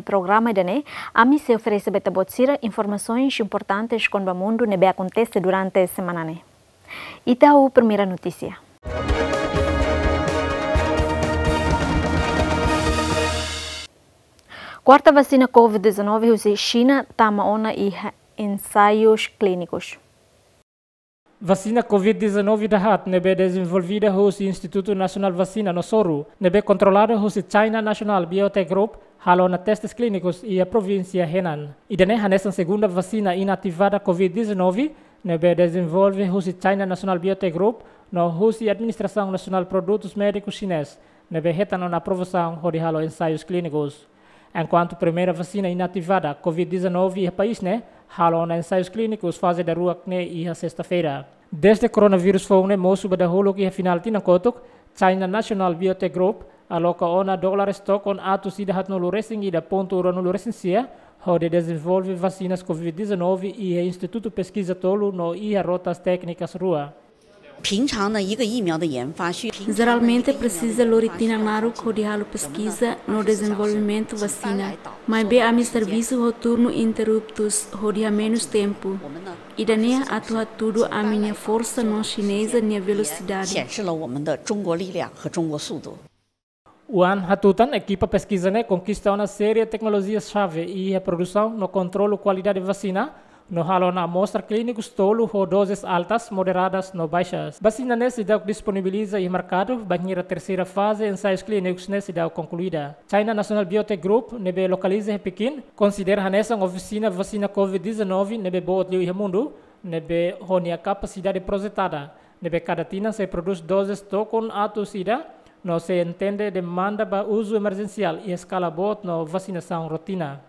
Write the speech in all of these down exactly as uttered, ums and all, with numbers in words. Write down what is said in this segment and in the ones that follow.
Programa ida-ne'e, ami sei oferese ba ita-boot sira informasaun importante kona-ba mundu ne'ebé akontese durante semana ne'e. Ita ho primeira notísia. Kuarta vasina covid dezanove husi Xina tama ona iha ensaius klínikus. Vasina covid dezanove dahaat ne'ebé dezenvolvida husi Institutu Nasionál Vasina no Soru, ne'ebé kontrolada husi China National Biotech Group, halo ona testes klínikus iha provínsia Henan. Ida-ne'e hanesan segunda vasina inativada covid dezanove, ne'ebé dezenvolve husi China National Biotech Group, no husi Administrasaun Nasionál Produtus Médikus Xinés, ne'ebé hetan ona aprovasaun hodi halo ensaius klínikus. Enkuantu primeira vasina inativada covid dezanove iha país ne'e, halo ona ensaius klínikus faze daruak ne'e iha sesta-feira. Dezde koronavírus foun ne'e mosu ba dahuluk iha finál tinan kotuk, China National Biotech Group aloka ona dólares tokon atus ida haatnulu resin ida pontu ruanulu resin sia, hodi dezenvolve vasinas covid dezanove iha institutu peskiza tolu no iha rotas téknikas rua. 平常呢，一个疫苗的研发需 Jeralmente presiza lori tinan naruk hodi halo peskiza no dezenvolvimentu vasina. Maibé ami servisu ho turnu interruptus hodi hamenus tempu. Ida-ne'e atu hatudu ami-nia forsa no xineza nia velosidade. 显示了我们的中国力量和中国速度。 Oan hatutan, ekipa peskiza ne'e konkista ona série teknolojia xave iha produsaun no kontrolu kualidade vasina, no halo ona amostra klínikus tolu ho dozes altas, moderadas no baixas. Vasina ne'e seidauk disponibiliza iha merkadu bainhira terseira faze ensaius klínikus ne'e seidauk konkluida. China National Biotech Group, ne'ebé lokaliza iha Pekin, konsidera hanesan ofisina vasina covid dezanove ne'ebé boot liu iha mundu, ne'ebé ho nia kapasidade projetada, ne'ebé kada tinan sei prodús dozes tokon atus ida, no sei atende demanda ba uzu emerjensiál iha eskala boot no vasinasaun rotina.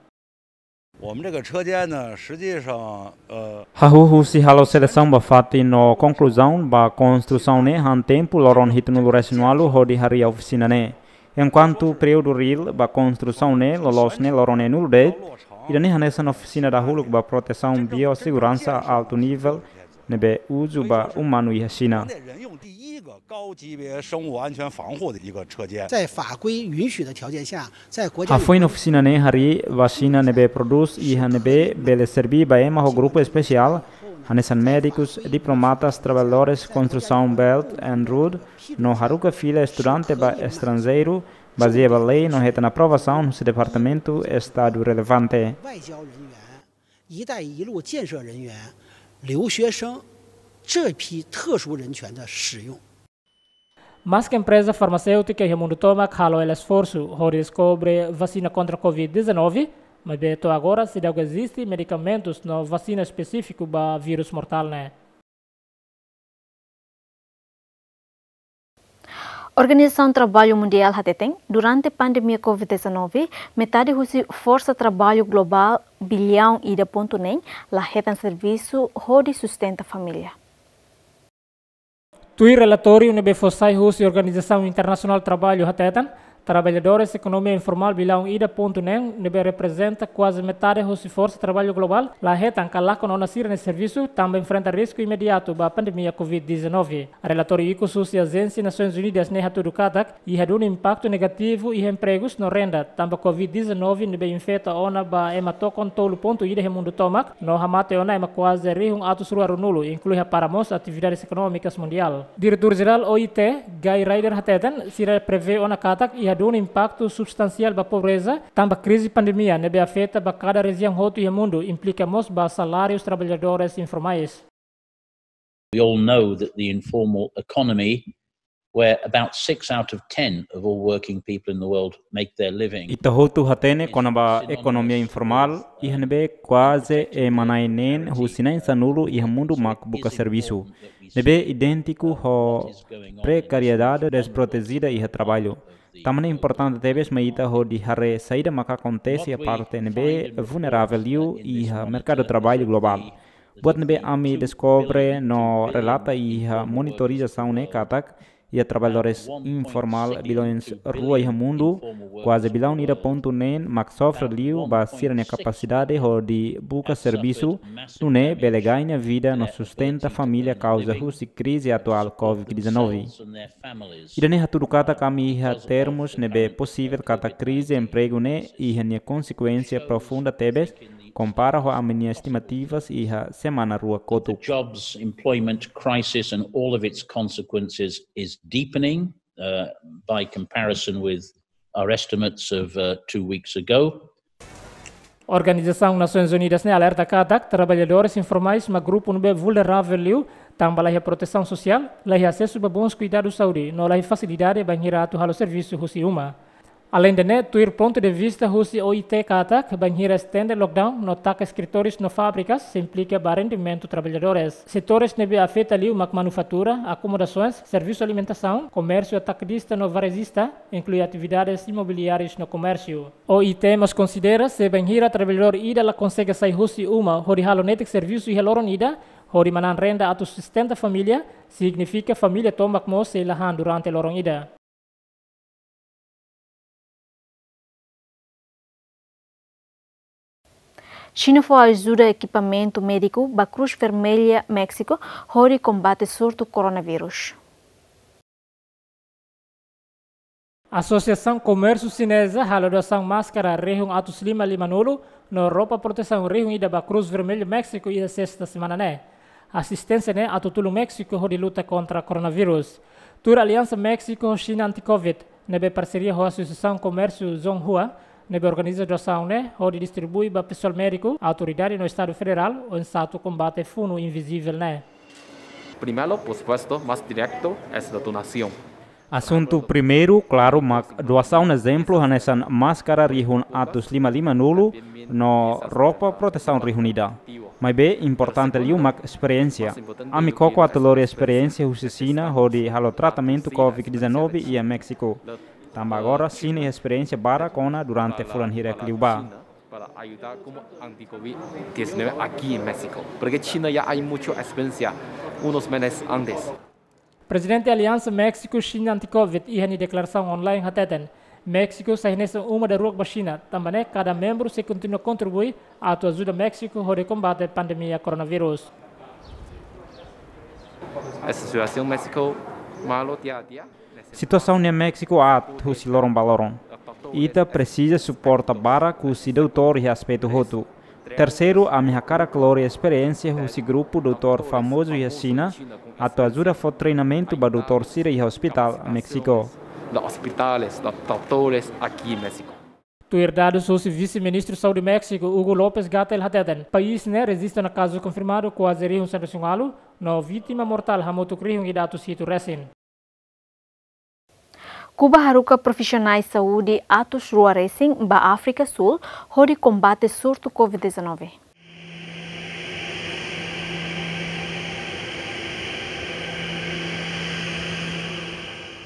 我们这个车间呢，实际上，呃， Hahú husi halo selesaun ba fatin no konkluzaun ba konstrusaun ne'e han tempu loron hitunulu resin ualu hodi harii ofisina ne'e. Enkuantu períodu reál ba konstrusaun ne'e loloos ne'e loron neenulu de'it, ida-ne'e hanesan ofisina dahuluk ba protesaun biosseguransa altu nivel ne'ebé uzu ba umanu iha Xina. 人用第一个高级别生物安全防护的一个车间。在法规允许的条件下，在国家 Hafoin ofisina ne'e harii vasina ne'ebé prodús iha ne'ebé bele serbí ba ema ho grupu espesiál, hanesan médikus, diplomatas, traballadores konstrusaun Belt and Road, no haruka fila estudante ba estranjeiru, bazeia ba lei no hetan aprovasaun husi departamentu estadu relevante. 外交人员、一带一路建设人员、留学生这批特殊人群的使用。 Maske empreza farmaséutika iha mundu tomak halo hela esforsu hodi deskobre vasina kontra covid dezanove, maibé to'o agora seidauk eziste medikamentus no vasina espesífiku ba vírus mortál ne'e. Organizasaun Traballu Mundiál hateten, durante pandemia covid dezanove, metade husi forsa traballu globál billaun ida pontu neen la hetan servisu hodi sustenta família. Tuir relatóriu ne'ebé fó sai husi Organizasaun Internasionál Traballu hateten, traballadores ekonomia informál billaun ida pontu neen ne'ebé reprezenta kuaze metade husi forsa traballu globál la hetan ka lakon ona sira-nia servisu tanba enfrenta risku imediatu ba pandemia covid dezanove. Relatóriu ikus husi Ajénsia Nasoins Unidas ne'e hatudu katak, iha duni impaktu negativu iha empregus no renda tanba covid dezanove ne'ebé infeta ona ba ema tokon tolu pontu ida iha mundu tomak, no hamate ona ema kuaze rihun atus rua ruanulu, inklui hapara mós atividades ekonómikas mundiál. Diretór Jerál O I T, Guy Ryder hateten, sira prevee ona katak iha duni impaktu substansiál ba pobreza tanba krize pandemia ne'ebé afeta ba kada rejiaun hotu iha mundu, implika mós ba salárius traballadores informais. We all know that the informal economy, where about six out of ten of all working people in the world make their living. Ita hotu hatene kona-ba ekonomia informál, iha ne'ebé kuaze ema na'in neen husi na'in sanulu iha mundu mak buka servisu. Ne'ebé idéntiku ho prekariedade desprotejida iha traballu. Tanba ne'e importante tebes mai ita hodi haree saida maka akontese iha parte ne'ebé vulneravel liu iha merkadu traballu globál. Buat ne'ebé ami deskobre no relata iha monitorizasaun ne'e katak, Dia traballadores informál bilaun rua iha mundu, kuaze bilaun ida pontu neen mak sofre liu ba sira-nia kapasidade hodi buka servisu, nune'e bele gaña vida no sustenta família kauza husi krize atuál covid dezanove. Ida-ne'e hatudu katak ami iha termus ne'ebé posivel katak krize empregu ne'e iha nia konsekuénsia profunda tebes, kompara ho ami-nia estimativas iha semana rua kotuk. Jobs, employment crisis and all of its consequences is deepening, uh, by comparison with our estimates of, uh, two weeks ago. Organizasaun Nasoins Unidas ne'e alerta katak traballadores informais mak grupu ne'ebé vulneravel liu, tanba la iha protesaun sosiál, la iha asesu ba bons kuidadus saúde, no la iha fasilidade bainhira atu halo servisu husi uma. Aleinde ne'e, tuir pontu de vista husi O I T katak, bainhira estende lockdown no taka eskritórius no fábrikas, sei implika ba rendimentu traballadores. Setores ne'ebé afeta liu mak manufatura, akomodasoens, servisu alimentasaun, komérsiu atakadista no varejista, inklui atividades imobiliárias no komérsiu. O I T mós konsidera se bainhira traballadór ida la konsege sai husi uma hodi halo netik servisu iha loron ida, hodi manán renda atu sustenta família, signifika família tomak mós sei la han durante loron ida. Xina fó ajuda ekipamentu médiku ba Cruz Vermelha México hodi kombate surtu coronavírus. Asosiasaun Komérsiu Xineza halo doasaun máskara rihun atus lima lima-nulu no roupa protesaun rihun ida ba Cruz Vermelha México iha sesta semana ne'e. Asisténsia ne'e atu tulun México hodi luta kontra coronavírus. Tuir Aliansa México Xina Anti-Covid, ne'ebé parseria ho Asosiasaun Komérsiu Zhonghua, ne'ebé organiza doasaun ne'e hodi distribui ba pesoál médiku, autoridade no Estadu Federál, oinsá atu kombate funu invizivel ne'e. Primero, por supuesto, más directo es la donación. Asuntu primeiru, klaru, mak doasaun ezemplu hanesan máskara rihun atus lima lima-nulu no roupa protesaun rihun ida. Maibé importante liu mak esperiénsia. Ami koko atu lori esperiénsia husi Xina hodi halo tratamentu covid dezanove iha México. Tanba agora Xina iha esperiénsia barak ona durante fulan hirak liubá. Para ayudar como anti-covid diecinueve aquí en México, porque China ya hay mucha experiencia unos meses antes. Prezidente Aliansa México Xina Anti-Covid iha nia deklarasaun online hateten, México sai hanesan uma daruak ba Xina, tanba ne'e kada membru sei kontinua kontribui atu ajuda México hodi kombate pandemia coronavírus. Essa situação México malo dia a dia. Situasaun iha México aat husi loron ba loron. Ita presiza suporta barak husi doutór iha aspetu hotu. Terseiru, ami hakarak lori esperiénsia husi grupu doutór famozu iha Xina, atu ajuda fó treinamentu ba doutór sira iha ospitál México. Los hospitales, los doctores aquí en México. Tuir dadus husi Vise-Ministru Saúde México, Hugo López-Gatell hateten, país ne'e rejista ona kazu konfirmadu kuaze rihun sanulu-resin-ualu, no vítima mortál hamutuk rihun ida atus hitu resin. Kuba haruka profisionais saúde atus rua resin ba Áfrika Súl hodi kombate surtu covid dezanove.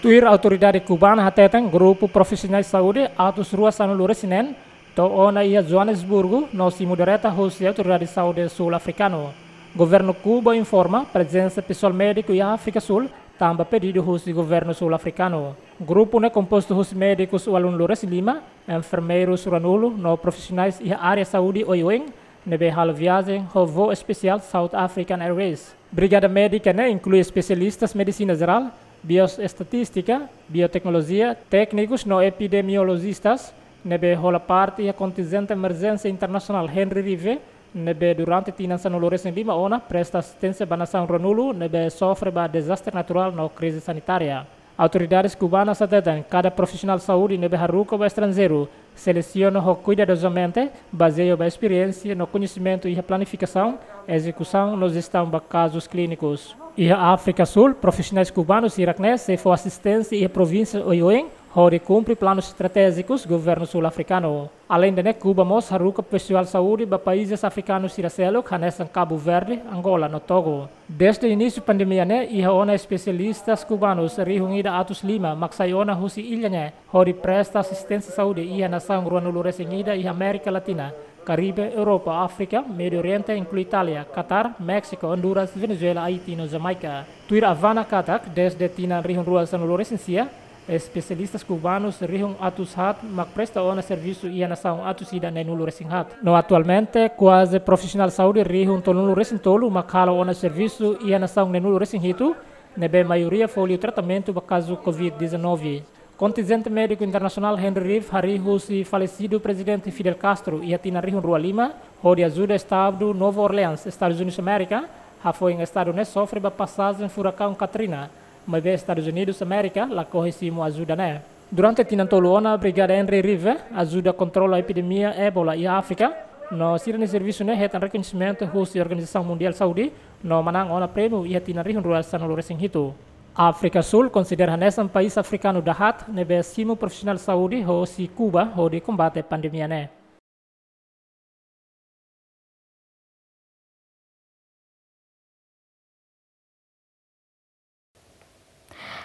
Tuir autoridade kubana hateten, grupu profisionais saúde atus rua sanulu-resin-neen to'o ona iha Joanesburgu no simu direta husi autoridade saúde sul-afrikanu. Governu Kuba informa prezensa pesoál médiku iha Áfrika Súl tanba pedidu husi governu sul-afrikanu. Grupu ne'e kompostu husi médikus ualunulu-resin-lima, enfermeirus ruanulu no profisionais iha área saúde oioin ne'ebé halo viajen ho voo espesiál South African Airways. Brigada médika ne'e inklui espesialistas medisina jerál, bioestatístika, bioteknolojia, téknikus no epidemiolojistas, ne'ebé hola parte iha kontinjente emerjénsia internasionál Henry Rive, ne'ebé durante tinan sanulu-resin-lima ona presta asisténsia ba nasaun ruanulu ne'ebé sofre ba dezastre naturál no krize sanitária. Autoridades kubanas hateten, kada profisionál saúde ne'ebé haruka ba estranjeiru selesiona ho kuidadozamente, bazeia ba esperiénsia no koñesimentu iha planifikasaun, ezekusaun no jestaun ba kazus klínikus. Iha Áfrika Súl, profisionais kubanus hirak-ne'e sei fó asisténsia iha provínsia oioin hodi kumpre planus estratéjikus governu sul-afrikanu. Aleinde ne'e, Kuba mós haruka pesoál saúde ba países afrikanus sira seluk, hanesan Kabu Verde, Angola no Togo. Dezde inísiu pandemia ne'e, iha ona espesialistas kubanus rihun ida atus lima mak sai ona husi illa ne'e hodi presta asisténsia saúde iha nasaun ruanulu-resin-ida iha Amérika Latina, Karibe, Europa, Áfrika, Médiu Oriente, inklui Itália, Katar, Méxiku, Honduras, Venezuela, Haiti no Jamaica. Tuir Havana katak, dezde tinan rihun rua sanulu resin sia, espesialista kubanus rihun atus haat mak presta ona servisu iha nasaun atus ida neenulu resin haat. No atualmente, kuaze profisionál saúde rihun tolunulu resin tolu mak halo ona servisu iha nasaun neenulu resin hitu, ne'ebé maioria fó liu tratamentu ba kazu covid dezanove. Kontinjente médiku internasionál Henry Reeve harii husi falesidu Prezidente Fidel Castro iha tinan rihun rua lima, hodi ajuda estadu Nova Orleans, Estadus Unidus Amérika, hafoin estadu ne'e sofre ba pasajen furakaun Katrina, maibé Estadus Unidus Amérika lakohi simu ajuda ne'e. Durante tinan tolu ona, Brigada Henry Reeve ajuda kontrola epidemia Ebola iha Áfrika, no sira-nia servisu ne'e hetan rekoñesimentu husi Organizasaun Mundiál Saúde, no manán ona prémiu iha tinan rihun rua sanulu resin hitu. Áfrika Súl konsidera hanesan país afrikanu dahaat ne'ebé simu profisionál saúde hosi Kuba hodi kombate pandemia ne'e.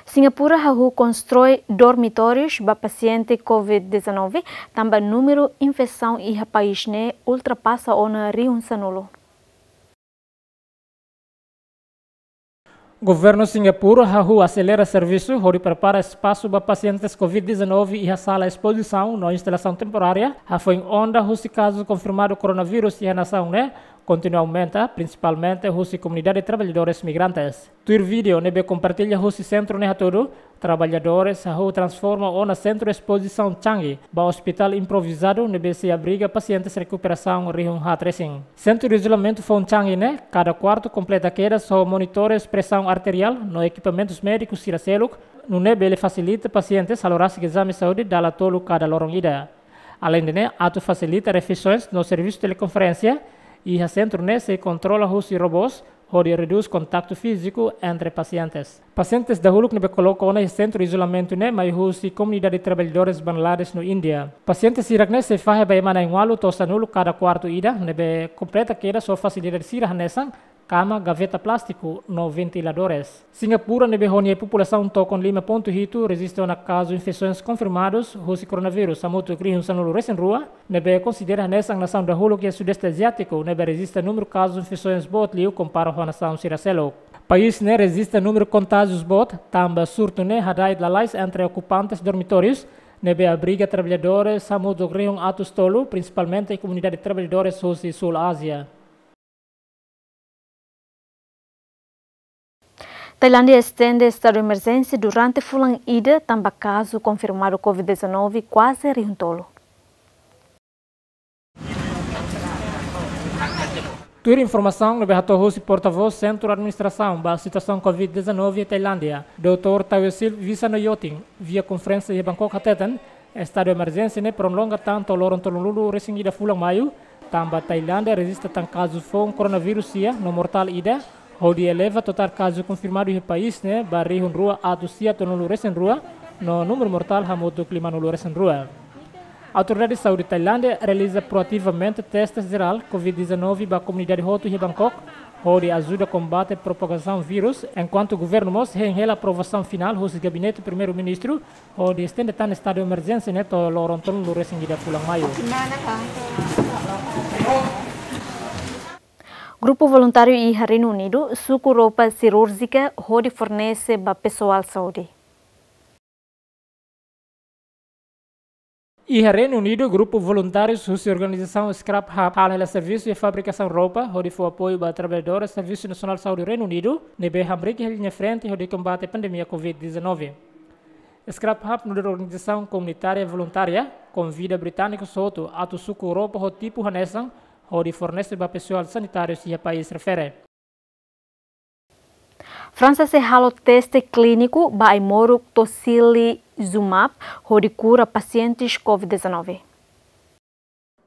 Singapura hahú konstrui dormitórius ba pasiente covid dezanove, tanba númeru infesaun iha país ne'e ultrapasa ona rihun sanulu. Governu Singapura hahú aselera servisu hodi prepara espasu ba pasientes covid dezanove iha sala espozisaun no instalasaun temporária, hafoin onda husi kazu konfirmadu koronavírus iha nasaun ne'e kontinua aumenta, prinsipalmente husi komunidade traballadores migrantes. Tuir vídeo ne'ebé kompartilla husi sentru ne'e hatudu, traballadores hahú transforma ona sentru espozisaun Changi ba ospitál improvizadu ne'ebé sei abriga pasientes rekuperasaun rihun haat resin. Sentru izolamentu foun Changi ne'e, kada kuartu kompleta kedas ho monitores presaun arteriál no ekipamentus médikus sira seluk, nune'e bele fasilita pasientes halo rasik ezame saúde dala tolu kada loron ida. Aleinde ne'e, atu fasilita refeisoens no servisu telekonferénsia, iha sentru ne'e sei kontrola husi robós, hodi redús kontaktu fíziku entre pasientes. Pasientes dahuluk ne'ebé koloka ona iha sentru izolamentu ne'e mai husi komunidade traballadores Bangladesh no Índia. Pasiente sira-ne'e sei fahe ba ema na'in-ualu to'o sanulu kada kuartu ida, ne'ebé kompleta kedas ho fasilidade sira hanesan kama, gaveta plástiku no ventiladores. Singapura ne'ebé ho nia populasaun tokon lima pontu hitu rejista ona kazu infesoens konfirmadus husi koronavírus hamutuk rihun sanulu resin rua, ne'ebé konsidera hanesan nasaun dahuluk iha Sudeste Aziátiku ne'ebé rejista númeru kazu infesoens boot liu kompara ho nasaun sira seluk. País ne'e rejista númeru kontájius boot, tanba surtu ne'e hada'et lalais entre okupantes dormitórius ne'ebé abriga traballadores hamutuk rihun atus tolu, prinsipalmente komunidade traballadores husi Súl Ázia. Tailándia estende estadu emerjénsia durante fulan ida, tanba kazu konfirmadu covid dezanove kuaze rihun tolu. Tuir informasaun ne'ebé hato'o husi portavós Sentru Administrasaun ba Situasaun covid dezanove Tailándia, doutór Tawesil Visanoyotin, via konferénsia iha Bangkok hateten, estadu emerjénsia ne'e prolonga tan to'o loron tolunulu resin ida fulan Maiu, tanba Tailándia rejista tan kazu foun koronavírus sia no mortál ida, hodi eleva totál kazu konfirmadu iha país ne'e ba rihun rua atus sia tolunulu resin rua, no númeru mortál hamutuk limanulu resin rua. Autoridade Saúde Tailándia realiza proativamente teste jerál covid dezanove ba komunidade hotu iha Bangkok, hodi ajuda kombate propagasaun vírus, enkuantu governu mós hein hela aprovasaun finál husi Gabinete Primeiru-Ministru, hodi estende tan estadu emerjénsia ne'e to'o loron tolunulu resin ida fulan Maiu. Grupu voluntáriu iha Reinu Unidu suku roupa sirúrjika hodi fornese ba pesoál saúde. Iha Reinu Unidu, grupu voluntárius husi organizasaun Scrap Hub halo hela servisu iha fabrikasaun roupa, hodi fó apoiu ba traballadores Servisu Nasionál Saúde Reinu Unidu, ne'ebé hamriik iha liña frente hodi kombate pandemia covid dezanove. Scrap Hub nu'udar organizasaun komunitária voluntária, konvida británikus hotu atu suku roupa ho tipu hanesan, hodi fornese ba pesoál sanitárius iha país refere. Fransa sei halo teste klíniku ba ai-moruk tocilizumab hodi kura pasientes covid dezanove.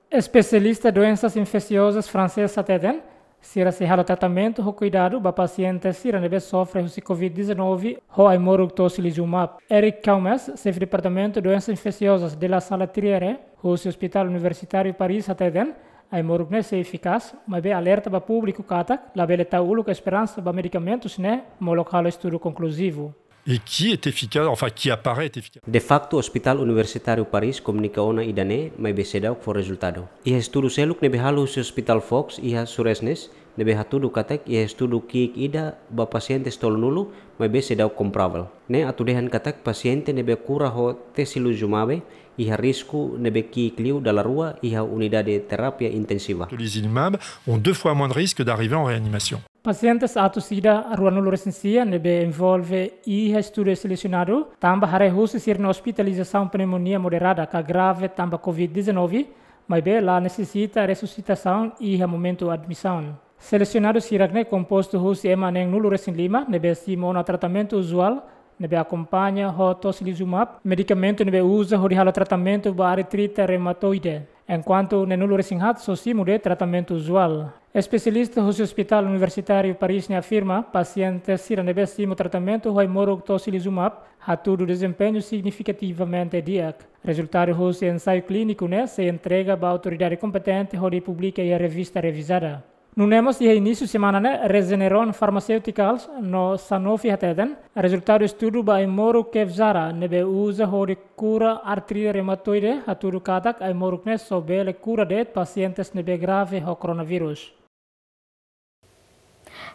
Espesialista doensas infesiozas fransés hateten, sira sei halo tratamentu ho kuidadu ba pasiente sira ne'ebé sofre husi covid dezanove ho ai-moruk tocilizumab. Eric Caumes, xefe departamentu doensas infesiozas de la Salpêtrière, husi Hospital Universitáriu Paris hateten, ai-moruk ne'e sei efikás, maibé alerta ba públiku katak labele tau uluk esperansa ba medikamentus ne'e molok halo estudu konkluzivu. et qui est efficace, enfin qui apparaît être efficace. De facto, Hospital Universitáriu Paris komunika ona ida-ne'e, maibé seidauk fó rezultadu. Iha estudu seluk ne'ebé halo husi Hospital Fox iha Suresnes, ne'ebé hatudu katak iha estudu ki'ik ida ba pasiente tolunulu, maibé seidauk komparavel. Ne'e atu dehan katak pasiente ne'ebé kura ho tocilizumab iha risku ne'ebé ki'ik liu dala rua iha unidade terapia intensiva. Tocilizumab ont deux fois moins de risque d'arriver en réanimation. Pasiente atus ida ruanulu-resin-sia ne'ebé envolve iha estudu selesionadu, tanba haree husi sira-nia ospitalizasaun pneumonia moderada ka grave tanba covid dezanove, maibé la nesesita resusitasaun iha momentu admisaun. Selesionadu sira-ne'e kompostu husi ema neenulu-resin-lima ne'ebé simu ona tratamentu uzuál, ne'ebé akompaña ho tocilizumab, medikamentu ne'ebé uza hodi halo tratamentu ba artrite reumatoide. Enkuantu neenulu-resin-haat só simu de'it tratamentu uzuál. Espesialista husi Hospital Universitáriu Paris ne'e afirma, pasiente sira ne'ebé simu tratamentu ho ai-moruk tocilizumab hatudu dezempeñu signifikativamente di'ak. Rezultadu husi ensaiu klíniku ne'e sei entrega ba autoridade kompetente hodi publika iha revista revizada. Nune'e mós iha inísiu semana ne'e, Regeneron Pharmaceuticals no Sanofi hateten, rezultadu estudu ba ai-moruk Kevzara ne'ebé uza hodi kura artrite reumatoide hatudu katak ai-moruk ne'e só bele kura de'it pasiente ne'ebé grave ho koronavírus.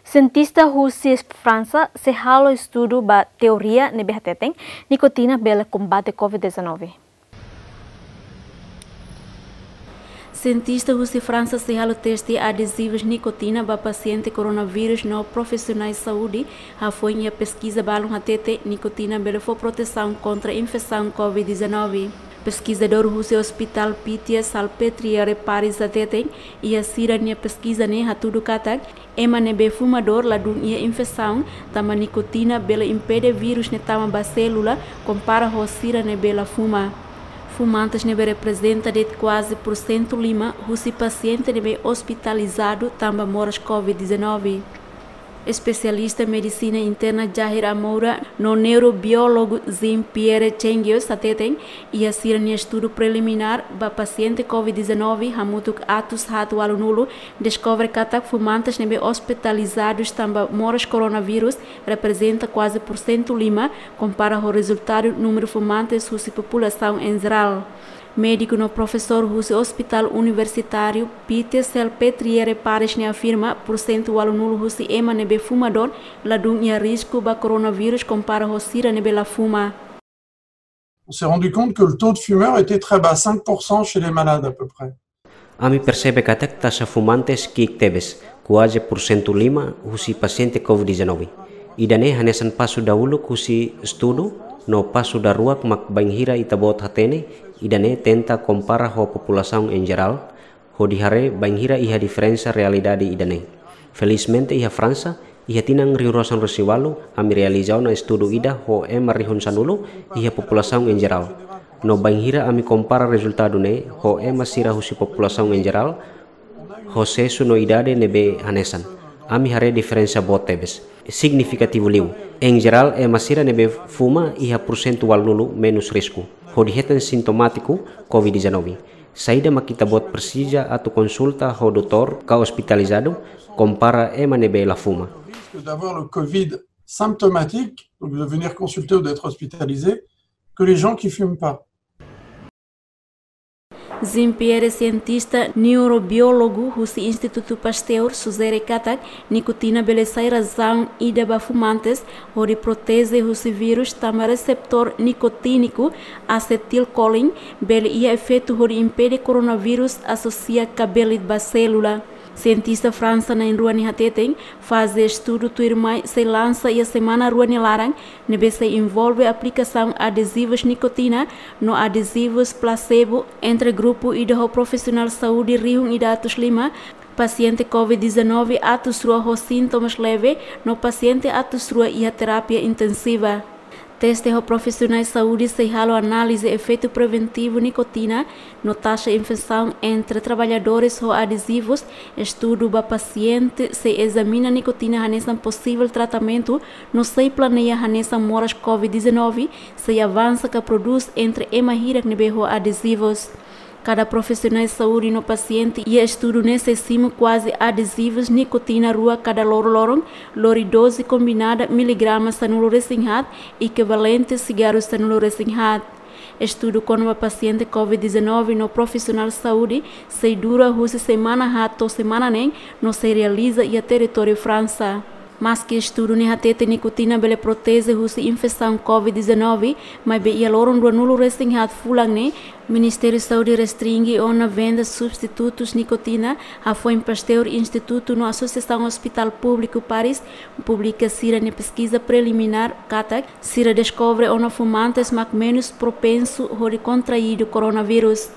Sientista husi Fransa sei halo estudu ba teoria ne'ebé hateten nikotina bele kombate covid dezanove. Sientista husi Fransa sei halo teste adezivus nikotina ba pasiente koronavírus no profisionais saúde, hafoin iha peskiza balun hatete nikotina bele fó protesaun kontra infesaun covid dezanove. Peskizadór husi Hospital Pitié-Salpêtrière Paris hateten, iha sira-nia peskiza ne'e hatudu katak ema ne'ebé fumadór ladún iha infesaun, tanba nikotina bele impede vírus ne'e tama ba sélula, kompara ho sira ne'ebé la fuma. Fumantes ne'ebé reprezenta de'it kuaze pursentu lima husi pasiente ne'ebé ospitalizadu tanba moras covid dezanove. Espesialista medisina interna Jahir Amoura no neurobiólogu Jean-Pierre Chengios hateten, iha sira-nia estudu preliminár ba pasiente covid dezanove hamutuk atus haat ualunulu, deskobre katak fumantes ne'ebé ospitalizadus tanba moras koronavírus reprezenta kuaze pursentu lima, kompara ho rezultadu númeru fumantes husi populasaun em jerál. Médiku no profesór husi Hospital Universitáriu Pitié-Salpêtrière Paris ne'e afirma, pursentu ualunulu husi ema ne'ebé fumadór ladún iha risku ba koronavírus kompara ho sira ne'ebé la fuma. On s'est rendu compte que le taux de fumeurs était très bas, cinq pour cent chez les malades à peu près. Ami persebe katak taxa fumantes ki'ik tebes, kuaze pursentu lima husi pasiente covid dezanove. Ida-ne'e hanesan pasu dauluk husi estudu, no pasu daruak mak bainhira ita-boot hatene ida-ne'e tenta kompara ho populasaun em jerál, hodi haree bainhira iha diferensa realidade ida-ne'e. Felizmente iha Fransa, iha tinan rihun rua sanulu-resin-ualu, ami realiza ona estudu ida ho ema rihun sanulu iha populasaun em jerál. No bainhira ami kompara rezultadu ne'e ho ema sira husi populasaun em jerál, ho seksu no idade ne'ebé hanesan, ami haree diferensa boot tebes, signifikativu liu. Em jerál, ema sira ne'ebé fuma iha pursentu ualunulu menus risku hodi hetan sintomátiku covid dezanove. Saida mak ita-boot presiza atu konsulta ho doutór ka ospitalizadu, kompara ema ne'ebé la fuma? Risque d'avoir le covid symptomatique, donc de venir consulter ou d'être hospitalisé, que les gens qui fument pas. Jean-Pierre, sientista neurobiólogu husi Institutu Pasteur, sujere katak nikotina bele sai razaun ida ba fumantes hodi proteje husi vírus, tanba reseptór nikotíniku, asetilkolin, bele iha efeitu hodi impede koronavírus asosia kabelit ba sélula. Sientista Fransa na'in-rua ne'e hateten, faze estudu tuirmai sei lansa iha semana rua nia laran, ne'ebé sei envolve aplikasaun adezivus nikotina no adezivus plasebo entre grupu ida ho profisionál saúde rihun ida atus lima, pasiente covid dezanove atus rua ho sintomas leve, no pasiente atus rua iha terapia intensiva. Teste ho profisionais saúde sei halo análize efeitu preventivu nikotina no taxa infesaun entre traballadores ho adezivus, estudu ba pasiente, sei ezamina nikotina hanesan posivel tratamentu, no sei planeia hanesan moras covid dezanove sei avansa ka prodús entre ema hirak ne'ebé ho adezivus. Kada profisionál saúde no pasiente iha estudu ne'e sei simu kuaze adezivus nikotina rua kada loron-loron, lori doze kombinada miligrama sanulu-resin-haat ekivalente sigarru sanulu-resin-haat. Estudu kona-ba pasiente covid dezanove no profisionál saúde sei dura husi semana haat to'o semana neen no sei realiza iha territóriu Fransa. Maski estudu ne'e hatete nikotina bele proteje husi infesaun covid dezanove, maibé iha loron ruanulu-resin-haat fulan ne'e, Ministériu Saúde restringe ona venda substitutus nikotina. Hafoin Pasteur Institutu no Asosiasaun Ospitál Públiku Paris publika sira-nia peskiza preliminár katak sira deskobre ona fumantes mak menus propensu hodi kontraidu koronavírus.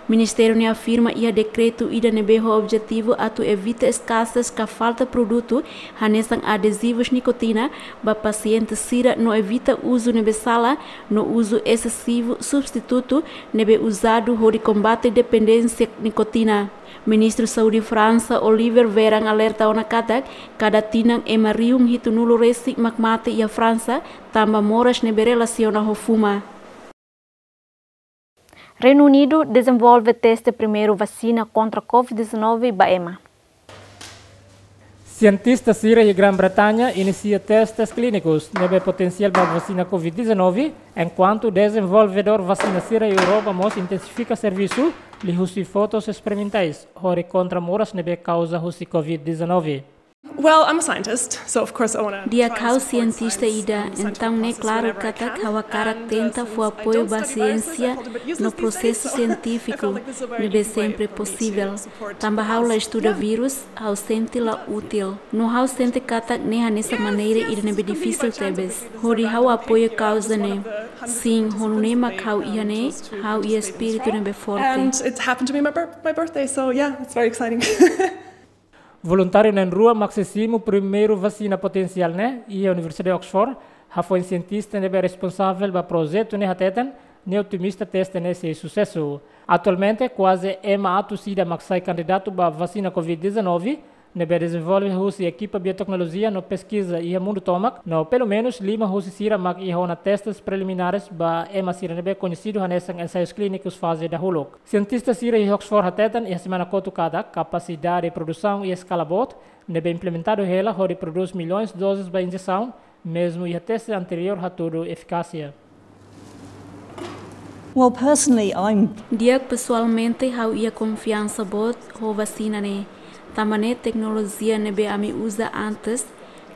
Ministériu ne'e afirma iha dekretu ida ne'ebé ho objetivu atu evita eskasez ka falta produtu hanesan adezivus nikotina ba pasiente sira no evita uzu ne'ebé sala no uzu esesivu substitutu ne'ebé uzadu hodi kombate dependénsia nikotina. Ministru Saúde Fransa, Olivier Véran, alerta ona katak kada tinan ema rihun hitunulu-resin mak mate iha Fransa tanba moras ne'ebé relasiona ho fuma. Reinu Unidu dezenvolve teste primeiru vasina kontra covid dezanove ba ema. Sientista sira iha Grã-Bretaña inisia testes klínikus ne'ebé potensiál ba vasina covid dezanove, enkuantu dezenvolvedór vasina sira iha Europa mós intensifika servisu liuhusi fotos esperimentais hodi kontra moras ne'ebé kauza husi covid dezanove. Well, I'm a scientist, so of course I wanna try and support science and scientific research whenever possible. Di'ak, ha'u sientista ida, entaun ne'e klaru katak ha'u hakarak tenta fó apoiu ba siénsia no prosesu sientífiku ne'ebé sempre posivel. Tanba ha'u la estuda vírus, ha'u sente la útil. No ha'u sente katak ne'e hanesan maneira ida ne'ebé difisil tebes hodi ha'u apoia kauza ne'e. Sin, ho nune'e mak ha'u iha ne'e, ha'u iha espíritu ne'ebé forte. And it's happened to be my bir-, my birthday, so yeah, it's very exciting. Voluntáriu na'in-rua mak sei simu primeiru vasina potensiál ne'e iha Universidade Oxford, hafoin sientista ne'ebé responsavel ba projetu ne'e hateten, nia otimista teste ne'e sei susesu. Atualmente, kuaze ema atus ida mak sai kandidatu ba vasina covid dezanove, ne'ebé dezenvolve husi ekipa bioteknolojia no peskiza iha mundu tomak, no pelumenus lima husi sira mak iha ona testes preliminares ba ema sira ne'ebé koñesidu hanesan ensaius klínikus faze dahuluk. Sientista sira iha Oxford hateten iha semana kotuk katak kapasidade produsaun iha eskala boot ne'ebé implementadu hela hodi prodús milhões doses ba injesaun, mezmu iha teste anteriór hatudu efikásia. Well, personally, I'm Di'ak, pesoalmente ha'u iha konfiansa boot ho vasina ne'e. Tanba ne'e teknolojia ne'ebé ami uza antes,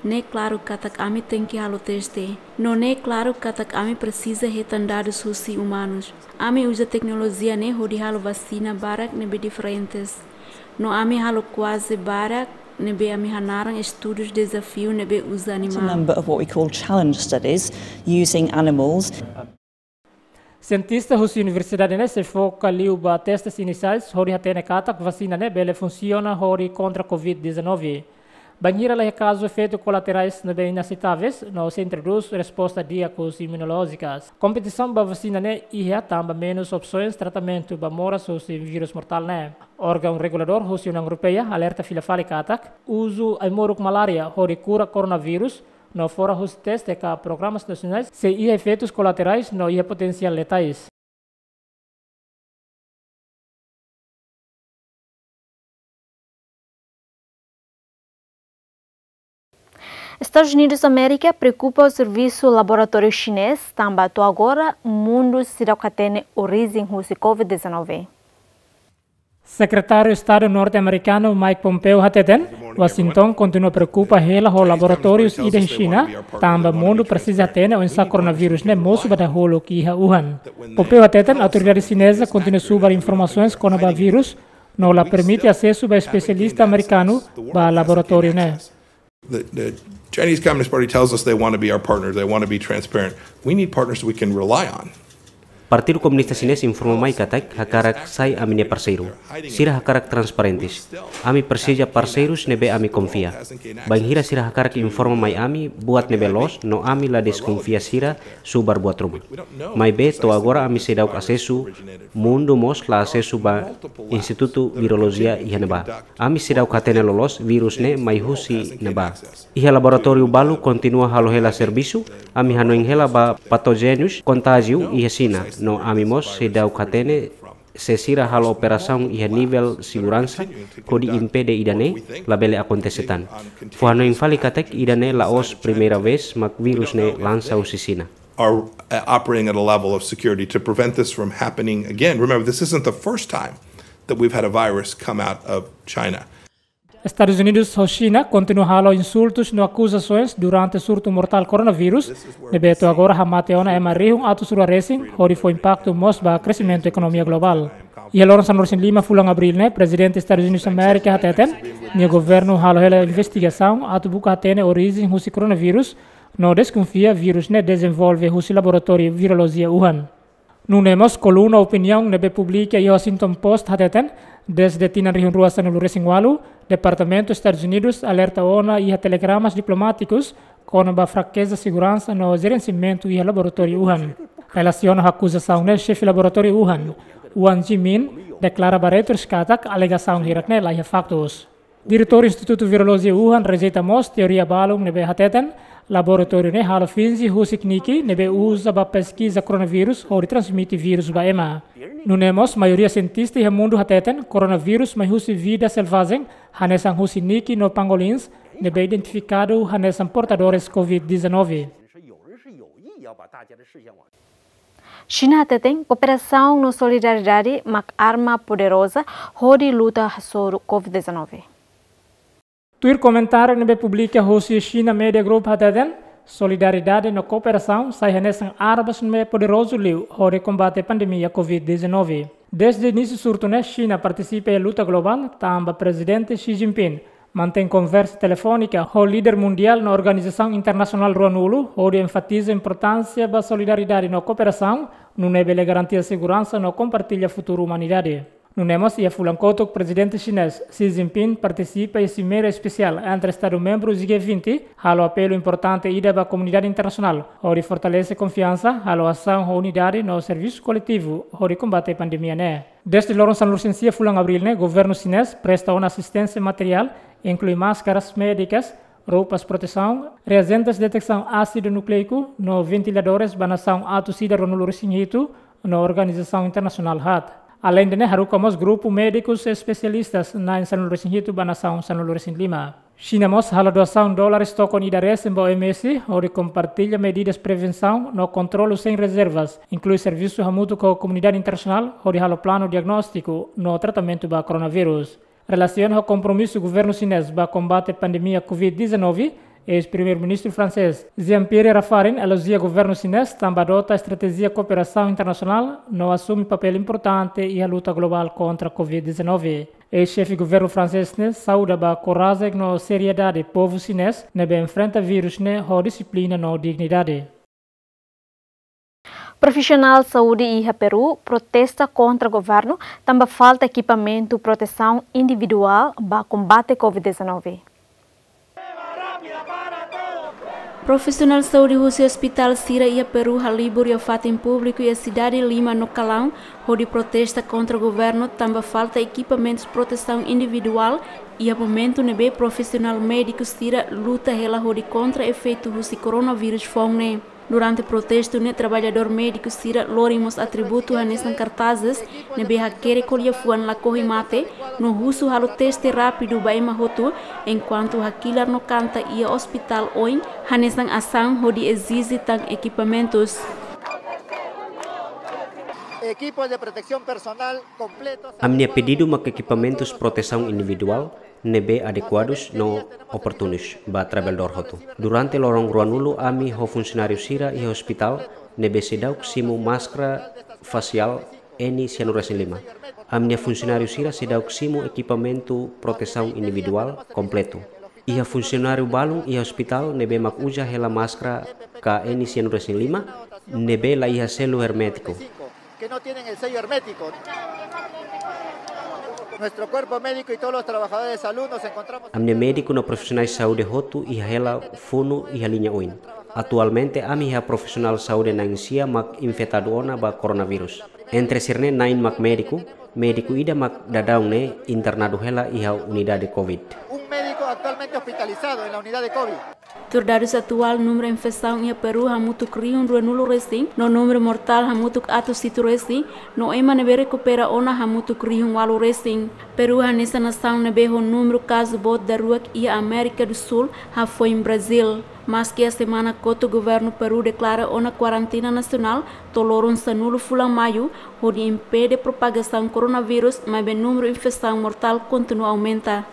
ne'e klaru katak ami tenke halo teste. No ne'e klaru katak ami presiza hetan dadus husi umanus. Ami uza teknolojia ne'e hodi halo vasina barak ne'ebé diferentes. No ami halo kuaze barak ne'ebé ami hanaran estudus dezafiu ne'ebé uza animál. Quite a number of what we call challenge studies using animals. Sientista husi universidade ne'e sei foka liu ba testes inisiais hodi hatene katak vasina ne'e bele funsiona hodi kontra covid dezanove. Bainhira la iha kazu efeitu kolaterais ne'ebé inaseitáveis, no sei introdús resposta di'ak husi imunolójikas. Kompetisaun ba vasina ne'e iha tanba menus opsoens tratamentu ba moras husi vírus mortál ne'e. Órgaun reguladór husi Uniaun Europeia alerta fila fali katak uzu ai-moruk malária hodi kura koronavírus, no fora husi teste ka programas nasionais, sei iha efeitus kolaterais no iha potensiál letais. Estadus Unidus Amérika preokupa ho servisu laboratóriu xinés, tanba to'o agora mundu seidauk hatene orijen husi covid dezanove. Sekretáriu Estadu norte-amerikanu Mike Pompeo hateten, Washington kontinua preokupa hela ho laboratórius ida iha Xina, tanba mundu presiza hatene oinsá koronavírus ne'e mosu ba dahuluk iha Wuhan. Pompeo hateten autoridade xineza kontinua subar informasoens kona-ba vírus, no la permite asesu ba espesialista amerikanu ba laboratóriu ne'e. The, the Chinese Communist Party tells us they want to be our partner, they want to be transparent. We need partners we can rely on. Partidu Komunista Xinés informa mai katak hakarak sai ami-nia parseiru. Sira hakarak transparentes. Ami presiza parseirus ne'ebé ami konfia. Bainhira sira hakarak informa mai ami buat ne'ebé loos, no ami la deskonfia sira subar buat ruma. Maibé to'o agora ami seidauk asesu, mundu mós la asesu ba Institutu Virolojia iha ne'ebá. Ami seidauk hatene loloos vírus ne'e mai husi ne'ebá. Iha laboratóriu balu kontinua halo hela servisu, ami hanoin hela ba patójenus kontajiu iha Xina, no ami mós seidauk hatene Se sira halo operasaun iha nivel seguransa hodi impede ida-ne'e, labele akontese tan. Fó hanoin fali katak ida-ne'e la'ós primeira vez mak vírus ne'e lansa husi Xina. are uh, operating at a level of security to prevent this from happening again. Remember, this isn't the first time that we've had a virus come out of China. Estadus Unidus ho Xina kontinua halo insultus no akuzasoens durante surtu mortál koronavírus, ne'ebé to'o agora hamate ona ema rihun atus rua resin, hodi fó impaktu mós ba kresimentu ekonomia globál. Iha loron sanulu-resin-lima fulan Abríl ne'e, Prezidente Estadus Unidus Amérika hateten, nia governu halo hela investigasaun atu buka hatene orijen husi koronavírus, no deskonfia vírus ne'e dezenvolve husi laboratóriu virolojia Wuhan. Nune'e mós koluna opiniaun ne'ebé publika iha Washington Post hateten, dezde tinan rihun rua sanulu-resin-ualu, Departamentu Estadus Unidus alerta ona iha telegramas diplomátikus kona-ba frakeza seguransa no jerensiamentu iha laboratóriu Wuhan. Relasiona ho akuzasaun ne'e, xefe laboratóriu Wuhan, Wang Jimin, deklara ba Reuters katak alegasaun hirak ne'e laiha faktus. Diretór Institutu Virolojia Wuhan rejeita mós teoria balun ne'ebé hateten laboratóriu ne'e halo finje husik niki ne'ebé uza ba peskiza koronavírus hodi transmite vírus ba ema. Nune'e mós maioria sientista iha mundu hateten koronavírus mai husi vida selvajen, hanesan husi niki no pangolins, ne'ebé identifikadu hanesan portadores Covid dezanove. Xina hateten kooperasaun no solidariedade mak arma poderoza hodi luta hasoru Covid dezanove. Tuir komentáriu ne'ebé publika husi China Media Group hateten, solidariedade no kooperasaun sai hanesan armas ne'ebé poderozu liu hodi kombate pandemia Covid dezanove. Dezde inísiu surtu ne'e, Xina partisipa iha luta globál, tanba Prezidente Xi Jinping mantein konversa telefónika ho líder mundiál no organizasaun internasionál ruanulu, hodi enfatiza importánsia ba solidariedade no kooperasaun, nune'e bele garantia seguransa no kompartilla futuru umanidade. Nune'e mós iha fulan kotuk, Prezidente Xinés Xi Jinping partisipa iha simeira espesiál entre Estadu membru G vinte, halo apelu importante ida ba komunidade internasionál, hodi fortalese konfiansa, halo asaun ho unidade no servisu koletivu hodi kombate pandemia ne'e. Dezde loron sanulu-resin-sia fulan Abríl ne'e, governu xinés presta ona asisténsia materiál, inklui máskaras médikas, roupas protesaun, reajentes detesaun ásidu núkleiku no ventiladores ba nasaun atus ida ruanulu-resin-hitu no organizasaun internasionál haat. Aleinde ne'e, haruka mós grupu médikus espesialistas na'in sanulu-resin-hitu ba nasaun sanulu-resin-lima. Xina mós halo doasaun dólares tokon ida resin ba O M S, hodi kompartilla medidas prevensaun no kontrolu sein rezervas, inklui servisu hamutuk ho komunidade internasionál, hodi halo planu diagnóstiku no tratamentu ba koronavírus. Relasiona ho kompromisu governu xinés ba kombate pandemia Covid dezanove, eis-primeiru-ministru fransés Jean-Pierre Raffarin elojia governu xinés tanba adota estratéjia kooperasaun internasionál no asume papél importante iha luta globál kontra Covid dezanove. Eis-xefe governu fransés ne'e sauda ba korajen no seriedade povu xinés ne'ebé enfrenta vírus ne'e ho dixiplina no dignidade. Profisionál saúde iha Peru protesta kontra governu tanba falta ekipamentu protesaun individuál ba kombate Covid dezanove. Profisionál saúde husi ospitál sira iha Peru halibur iha fatin públiku iha sidade Lima no Calao, hodi protesta kontra governu tanba falta ekipamentus protesaun individuál iha momentu ne'ebé profisionál médiku sira luta hela hodi kontra efeitu husi koronavírus foun ne'e. Durante protestu ne'e, traballadór médiku sira lori mós atributu hanesan kartazes ne'ebé hakerek ho liafuan lakohi mate no husu halo teste rápidu ba ema hotu, enkuantu hakilar no kanta iha ospitál oin hanesan asaun hodi ezije tan ekipamentus. Equipos de protección personal completos. Ami-nia pedidu mak ekipamentus protesaun individuál ne'ebé adekuadus no oportunus ba traballadór hotu. Durante loron ruanulu, ami ho funsionáriu sira iha ospitál ne'ebé seidauk simu máskara fasiál N cianuro resin lima. Ami-nia funsionáriu sira seidauk simu ekipamentu protesaun individuál kompletu. Iha funsionáriu balun iha ospitál ne'ebé mak uza hela máskara ka N cianuro resin lima, ne'ebé laiha selu hermétiku. Que no tienen el sello hermético. Nuestro cuerpo médico y todos los trabajadores de salud nos encontramos. Ami-nia médiku no profisionais saúde hotu iha hela funu iha liña oin. Atualmente, ami iha profisionál saúde na'in sia mak infetadu ona ba koronavírus. Entre sira-ne'e na'in mak médiku, médiku ida mak daudaun ne'e internadu hela iha unidade Covid. Un médico actualmente hospitalizado en la unidad de Covid. Tuir dadus atuál, númeru infesaun iha Peru hamutuk rihun rua nulu resin, no númeru mortál hamutuk atus hitu resin, no ema ne'ebé rekupera ona hamutuk rihun ualu resin. Peru hanesan nasaun ne'ebé ho númeru kazu boot daruak iha Amérika do Súl, hafoin Brazíl. Maski iha semana kotuk governu Peru deklara ona kuarentina nasionál to'o loron sanulu fulan Maiu, hodi impede propagasaun koronavírus, maibé númeru infesaun mortál kontinua aumenta.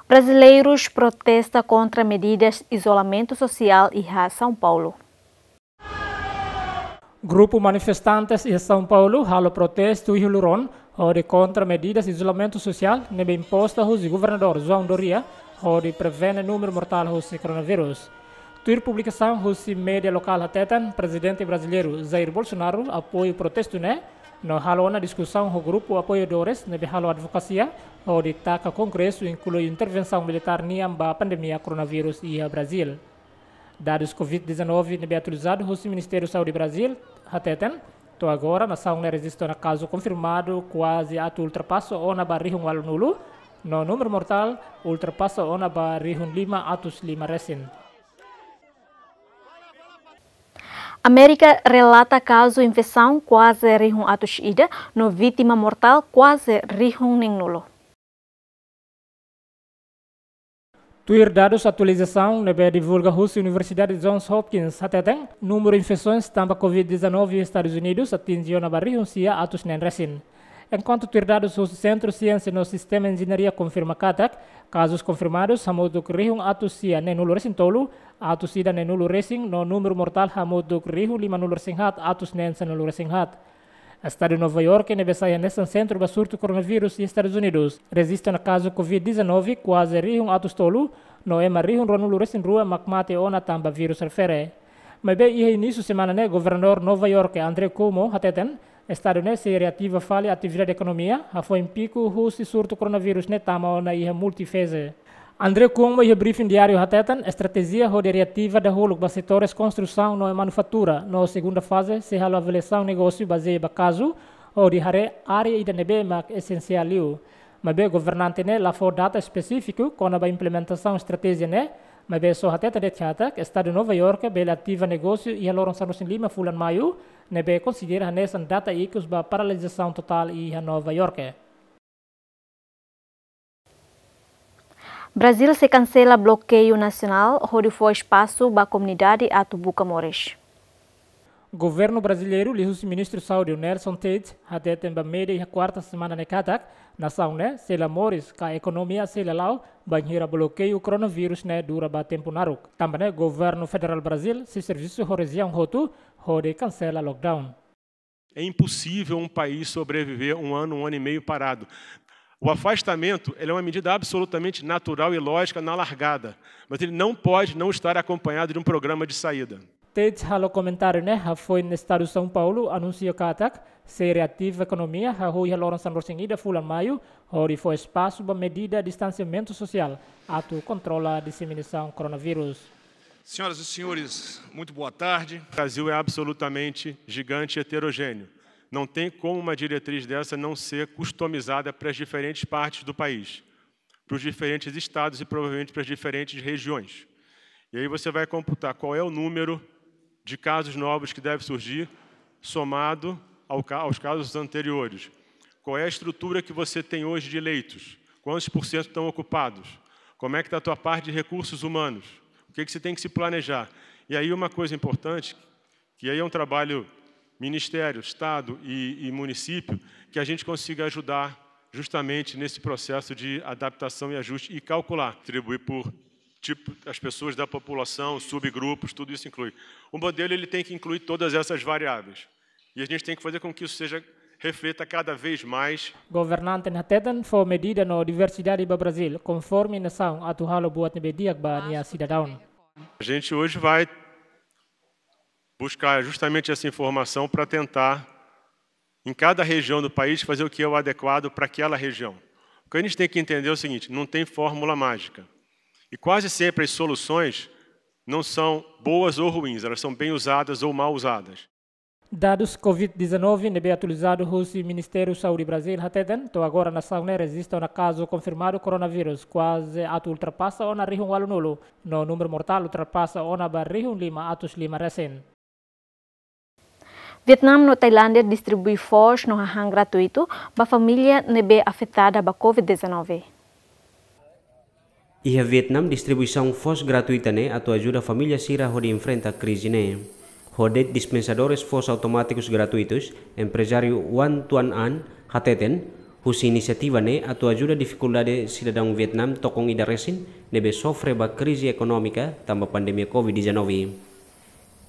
Brasileiros protesta kontra medidas izolamentu sosiál iha São Paulo. Grupu manifestantes iha São Paulo halo protestu iha loron hodi kontra medidas izolamentu sosiál ne'ebé imposta husi governadór João Dória hodi prevene númeru mortál husi koronavírus. Tuir publikasaun husi média lokál hateten, prezidente brasileiru Jair Bolsonaro apoiu protestu ne'e, no halo ona diskusaun ho grupu apoiadores ne'ebé halo advokasia hodi taka Kongresu inklui intervensaun militár nian ba pandemia koronavírus iha Brazíl. Dadus Covid dezanove ne'ebé atualizadu husi Ministériu Saúde Brazíl hateten, to'o agora nasaun ne'e rejista ona kazu konfirmadu kuaze atu ultrapasa ona ba rihun ualu nulu, no númeru mortál ultrapasa ona ba rihun lima atus lima resin. Amérika relata kazu infesaun kuaze rihun atus ida, no vítima mortál kuaze rihun neen nulu. Tuir dadus atualizasaun ne'ebé divulga husi Universidade Johns Hopkins hateten, númeru infesoens tanba Covid dezanove iha Estadus Unidus atinje ona ba rihun sia atus neen resin. Enkuantu tuir dadus husi Sentru Siénsia no Sistema Enjeñaria konfirma katak, kazus konfirmadus hamutuk rihun atus sia neen nulu resin tolu, atus ida neen nulu resin, no númeru mortál hamutuk rihun lima nulu resin haat, atus neen sanulu resin haat. Estadu Nova York ne'ebé sai hanesan sentru ba surtu koronavírus iha Estadus Unidus, rejista ona kazu Covid dezanove kuaze rihun atus tolu, no ema rihun rua nulu resin rua mak mate ona tanba vírus refere. Maibé iha inísiu semana ne'e, governadór Nova York Andrew Cuomo hateten, estadu ne'e sei reativa fali atividade ekonomia, hafoin piku husi surtu koronavírus ne'e tama ona iha multifeze. Andrew Cuomo iha briefing diáriu hateten, estratéjia hodi reativa dahuluk ba setores konstrusaun no manufatura, no segunda faze sei halo avaliasaun negósiu bazeia ba kazu, hodi haree área ida ne'ebé mak esensiál liu. Maibé governante ne'e la fó data espesífiku kona-ba implementasaun estratéjia ne'e, maibé só hateten de'it katak, estadu Nova York bele ativa negósiu iha loron sanulu resin lima fulan Maiu, ne'ebé konsidera hanesan data ikus ba paralizasaun totál iha Nova York. Brazíl sei kansela blokeiu nasionál hodi fó espasu ba komunidade atu buka moris. Governu brasileiru liuhusi Ministru Saúde Nelson Taixe hateten ba média iha kuarta semana ne'e katak, nasaun ne'e sei la moris ka ekonomia sei la la'o bainhira blokeiu koronavírus ne'e dura ba tempu naruk. Tanba ne'e governu federál Brazíl sei servisu ho rejiaun hotu hodi kansela lockdown. É impossível um país sobreviver um ano, um ano e meio parado. O afastamento, ele é uma medida absolutamente natural e lógica na largada, mas ele não pode não estar acompanhado de um programa de saída. Taixe halo komentáriu ne'e hafoin estadu São Paulo anunsia katak sei reativa ekonomia hahú iha loron sanulu resin ida fulan Maiu, hodi fó espasu ba medida distansiamentu sosiál atu kontrola diseminasaun koronavírus. Senhoras e senhores, muito boa tarde. O Brasil é absolutamente gigante e heterogêneo. Não tem como uma diretriz dessa não ser customizada para as diferentes partes do país, para os diferentes estados e provavelmente para as diferentes regiões. E aí você vai computar qual é o número de casos novos que deve surgir, somado ao ca-, aos casos anteriores. Qual é a estrutura que você tem hoje de leitos? Quantos por cento estão ocupados? Como é que está a tua parte de recursos humanos? O que que você tem que se planejar? E aí uma coisa importante, que aí é um trabalho ministério, estado e, e município, que a gente consiga ajudar justamente nesse processo de adaptação e ajuste e calcular, distribuir por tipo, as pessoas da população, subgrupos, tudo isso inclui. O modelo, ele tem que incluir todas essas variáveis. E a gente tem que fazer com que isso seja, reflita cada vez mais. Governante ne'e hateten fó medida no diversidade ba Brazíl, konforme nasaun atu halo buat ne'ebé di'ak ba nia sidadaun. A gente hoje vai buscar justamente essa informação para tentar, em cada região do país, fazer o que é o adequado para aquela região. O que a gente tem que entender é o seguinte, não tem fórmula mágica. E quase sempre as soluções não são boas ou ruins, elas são bem usadas ou mal usadas. Dadus Covid dezanove ne'ebé atualizadu husi Ministériu Saúde Brazil hateten, to'o agora nasaun ne'e rejista ona kazu konfirmadu koronavírus kuaze atu ultrapasa ona rihun ualunulu, no númeru mortál ultrapasa ona ba rihun lima atus lima resin. Vietnam no Tailándia distribui foos no hahán gratuitu ba família ne'ebé afetada ba Covid dezanove. Iha Vietnam, distribuisaun foos gratuita ne'e atu ajuda família sira hodi enfrenta krize ne'e. Ho de'it dispensadores foos automátikus gratuitus, emprezáriu Nguyen Tuan Anh hateten, husi inisiativa ne'e atu ajuda difikuldade sidadaun Vietnam tokon ida resin ne'ebé sofre ba krize ekonómika tanba pandemia Covid dezanove.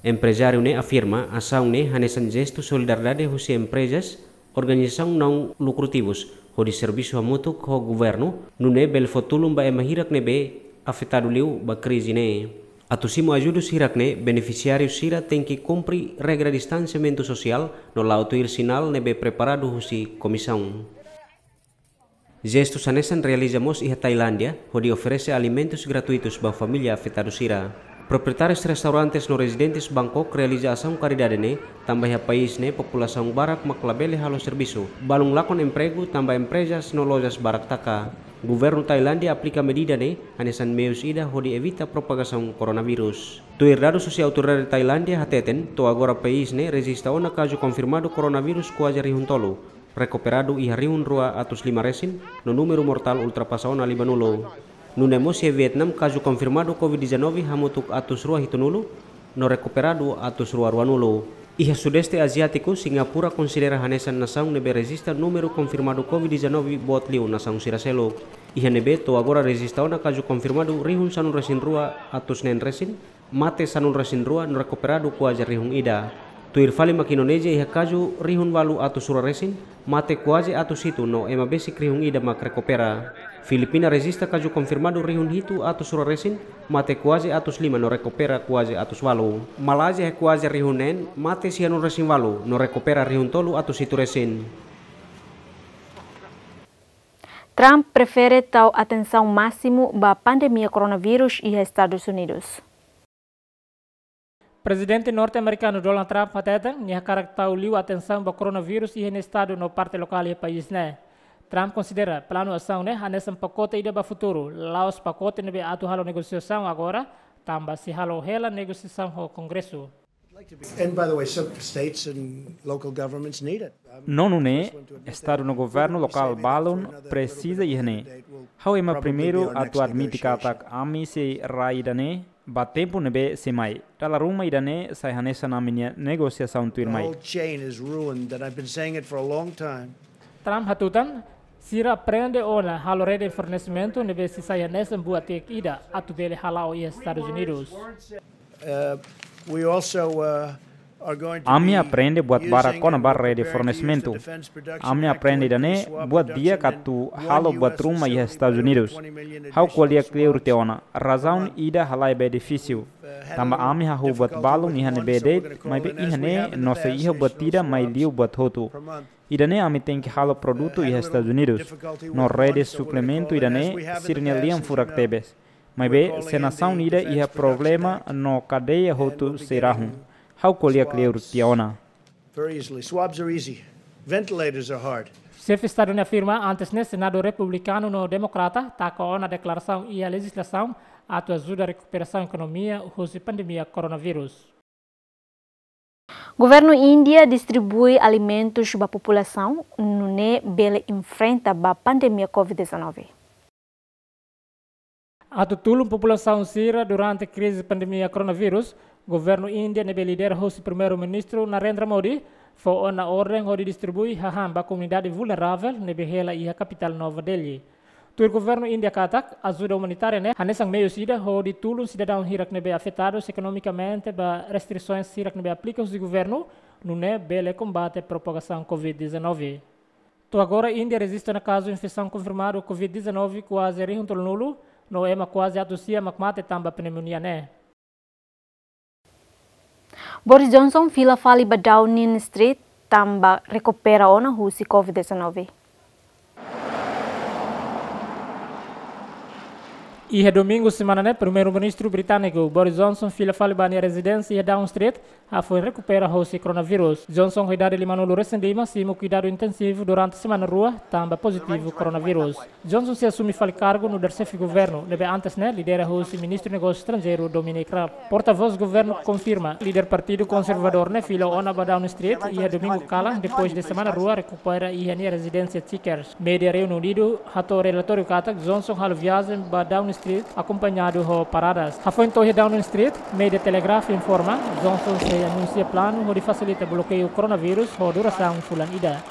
Emprezáriu ne'e afirma, asaun ne'e hanesan jestu solidariedade husi emprezas, organizasaun naun lukrativus, hodi servisu hamutuk ho governu, nune'e bele fó tulun ba ema hirak ne'ebé afetadu liu ba krize ne'e. Atu simu ajudus hirak ne'e, benefisiáriu sira tenke kumpre regra distansiamentu sosiál no la'o tuir sinál ne'ebé preparadu husi komisaun. Jestu hanesan realiza mós iha Tailándia, hodi oferese alimentus gratuitus ba família afetadu sira. Proprietárius restaurantes no rezidentes Bangkok realiza asaun karidade ne'e, tanba iha país ne'e populasaun barak mak labele halo servisu, balun lakon empregu tanba emprezas no lojas barak taka. Governu Tailándia aplika medida ne'e hanesan meius ida hodi evita propagasaun koronavírus. Tuir dadus husi autoridade Tailándia hateten, to'o agora país ne'e rejista ona kazu konfirmadu koronavírus kuaze rihun tolu, rekuperadu iha rihun rua atus lima resin, no númeru mortál ultrapasa ona limanulu. Nune'e mós iha Vietnam kazu konfirmadu Covid dezanove hamutuk atus rua hitunulu, no rekuperadu atus rua ruanulu. Iha Sudeste Aziátiku, Singapura konsidera hanesan nasaun ne'ebé rejista númeru konfirmadu Covid dezanove boot liu nasaun sira seluk. Iha ne'ebé to'o agora rejista ona kazu konfirmadu rihun sanulu resin rua atus neen resin, mate sanulu resin rua no rekuperadu kuaze rihun ida. Tuir fali mak Indonézia iha kazu rihun ualu atus rua resin, mate kuaze atus hitu no ema besik rihun ida mak rekupera. Filipina rejista kazu konfirmadu rihun hitu atus rua resin, mate kuaze atus lima no rekupera kuaze atus ualu. Malázia iha kuaze rihun neen, mate sianulu resin ualu no rekupera rihun tolu atus hitu resin. Trump prefere tau atensaun másimu ba pandemia koronavírus iha Estadus Unidus. Prezidente norte-amerikanu Donald Trump hateten, nia hakarak tau liu atensaun ba koronavírus iha nia estadu no parte lokál iha país ne'e. Trump konsidera planu asaun ne'e hanesan pakote ida ba futuru, la'ós pakote ne'ebé atu halo negosiasaun agora, tanba sei halo hela negosiasaun ho Kongresu. And by the way, some states and local governments need it. No nune'e, estadu no governu lokál balun presiza iha ne'e. Ha'u ema primeiru atu admite katak ami sei rai ida-ne'e ba tempu ne'ebé sei mai. Dala ruma ida-ne'e sai hanesan ami-nia negosiasaun tuirmai. The whole chain is ruined, and I've been saying it for a long time. Trump hatutan, sira aprende ona halo rede fornesimentu ne'ebé sei sai hanesan buat di'ak ida atu bele hala'o iha Estadus Unidus. Uh, we also, uh, are going to be using and we're preparing to use the defense production act to increase swab production in Guam. Ami aprende buat barak kona-ba rede fornesimentu. Ami aprende ida-ne'e buat di'ak atu halo buat ruma iha Estadus Unidus. Ha'u ko'alia kleur tiha ona. Razaun ida halai ba edifísiu. Tanba ami hahú buat balun iha ne'ebé de'it, maibé iha ne'e no sei iha buat ida mai liu buat hotu. Ida-ne'e ami tenke halo produtu iha Estadus Unidus. No rede suplementu ida-ne'e sira-nia lian furak tebes. Maibé, se nasaun ida iha problema no kadeia hotu sei rahun. Ha'u ko'alia kleur tiha ona. Very easily. Swabs are easy. Ventilators are hard. Xefe Estadu ne'e afirma antes ne'e Senadu republikanu no demokrata taka ona deklarasaun iha lejizlasaun atu ajuda rekuperasaun ekonomia husi pandemia koronavírus. Governu Índia distribui alimentus ba populasaun, nune'e bele enfrenta ba pandemia Covid dezanove. Atu tulun populasaun sira durante krize pandemia koronavírus, governu Índia ne'ebé lidera husi Primeiru-Ministru Narendra Modi, fó ona orden hodi distribui hahán ba komunidade vulneravel ne'ebé hela iha kapitál Nova Delhi. Tuir governu Índia katak, ajuda umanitária ne'e hanesan meius ida hodi tulun sidadaun hirak ne'ebé afetadu ekonomikamente ba restrisaun hirak ne'ebé aplika husi governu, nune'e bele kombate propagasaun Covid dezanove. To'o agora Índia rejista ona kazu infesaun konfirmadu Covid dezanove kuaze rihun tolunulu, no ema kuaze atus sia mak mate tanba pneumonia ne'e. Boris Johnson fila fali ba Downing Street tanba rekupera ona husi Covid dezanove. Iha domingu semana ne'e, Primeiru-Ministru britániku Boris Johnson fila fali ba nia rezidénsia iha Downing Street, hafoin rekupera hosi koronavírus. Johnson ho idade limanulu resin lima simu kuidadu intensivu durante semana rua, tanba pozitivu koronavírus. Johnson sei asume fali kargu nu'udar xefe governu, ne'ebé antes ne'e lidera hosi Ministru Negósiu Estranjeiru Dominic Raab. Portavós governu konfirma, líder Partidu Konservadór ne'e fila ona ba Downing Street iha domingu kalan, depois de semana rua rekupera iha nia rezidénsia Chequers. Média Reinu Unidu hato'o relatóriu katak Johnson halo viajen ba Downing Street akompañadu ho paradas. Hafoin to'o iha Downing Street, média Telegraph informa, Johnson sei anunsia planu hodi fasilita blokeiu koronavírus ho durasaun fulan ida.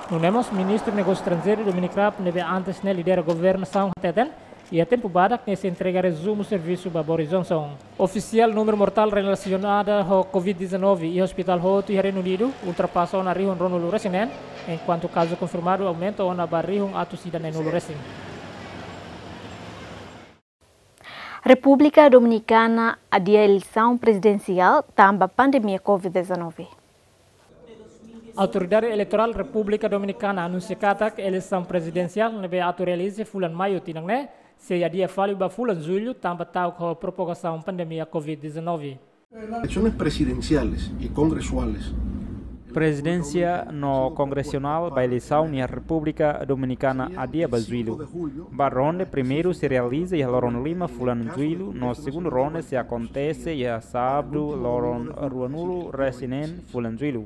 Nune'e mós, Ministru Negósiu Estranjeiru Dominic Raab, ne'ebé antes ne'e lidera governasaun, hateten iha tempu badak nia sei entrega rezumu servisu ba Boris Johnson. Ofisiál númeru mortál relasionada ho Covid dezanove iha ospitál hotu iha Reinu Unidu ultrapasa ona rihun ruanulu resin neen, enkuantu kazu konfirmadu aumenta ona ba rihun atus ida neenulu resin. Repúblika Dominikana adia eleisaun prezidensiál tanba pandemia Covid dezanove. Autoridade Eleitorál Repúblika Dominikana anunsia katak eleisaun prezidensiál ne'ebé atu realiza fulan Maiu tinan ne'e sei adia fali ba fulan Jullu tanba ta'uk ho propagasaun pandemia Covid dezanove. Elecciones presidenciales y congresuales. Prezidensiál no kongresionál ba eleisaun iha Repúblika Dominikana adia ba Jullu. Ba ronde primeiru sei realiza iha loron lima fulan Jullu, no segundu ronde sei akontese iha sábadu loron ruanulu resin neen fulan Jullu.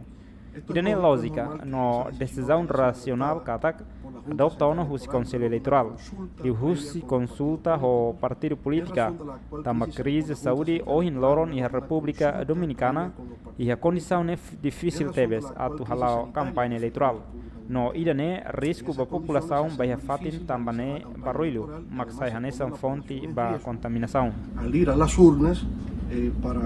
Ida-ne'e lójika no desizaun rasionál katak adopta ona husi Konsellu Eleitorál, liuhusi konsulta ho partidu polítika, tanba krize saúde ohin loron iha Repúblika Dominikana, iha kondisaun ne'e difisil tebes atu hala'o kampaña eleitorál. No ida-ne'e risku ba populasaun ba iha fatin tanba ne'e barullu mak sai hanesan fonte ba kontaminasaun. Al ir a las urnas, eh, para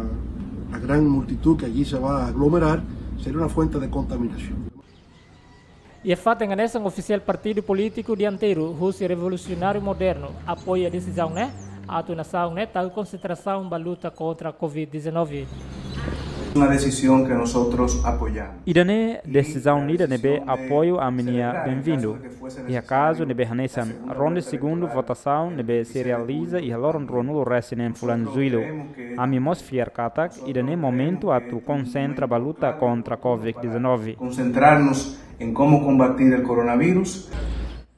la gran multitud que allí se va a aglomerar, sería una fuente de contaminación. Iha fatin hanesan, ofisiál partidu polítiku dianteiru husi Revolusionáriu Modernu apoia desizaun ne'e, atu nasaun ne'e tau konsentrasaun ba luta kontra Covid dezanove. Una decisión que nosotros apoyamos. Ida-ne'e desizaun ida ne'ebé apoiu ami-nia benvindu. Iha kazu ne'ebé hanesan ronde segundu votasaun ne'ebé sei realiza iha loron ruanulu resin neen fulan Jullu, ami mós fiar katak ida-ne'e momentu atu konsentra ba luta kontra Covid dezanove. Concentrarnos en cómo combatir el coronavirus.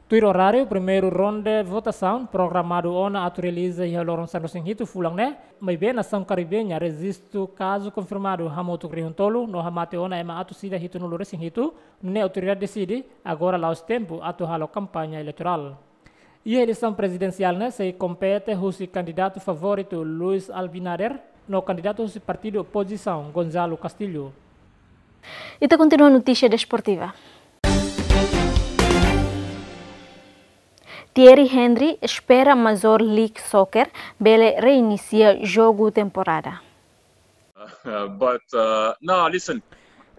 Tuir oráriu, primeiru ronde votasaun programadu ona atu realiza iha loron sanulu resin hitu fulan ne'e, maibé nasaun Karibe nian rejistu kazu konfirmadu hamutuk rihun tolu no hamate ona ema atus ida hitunulu resin hitu, nune'e autoridade deside agora la'ós tempu atu halo kampaña eleitorál. Iha eleisaun prezidensiál ne'e sei kompete husi kandidatu favoritu Luis Abinader no kandidatu husi partidu opozisaun Gonzalo Castilho. Ita kontinua notísia desportiva. Thierry Henry espera Major League Soccer bele reinisia jogu temporada. But, uh, no, listen.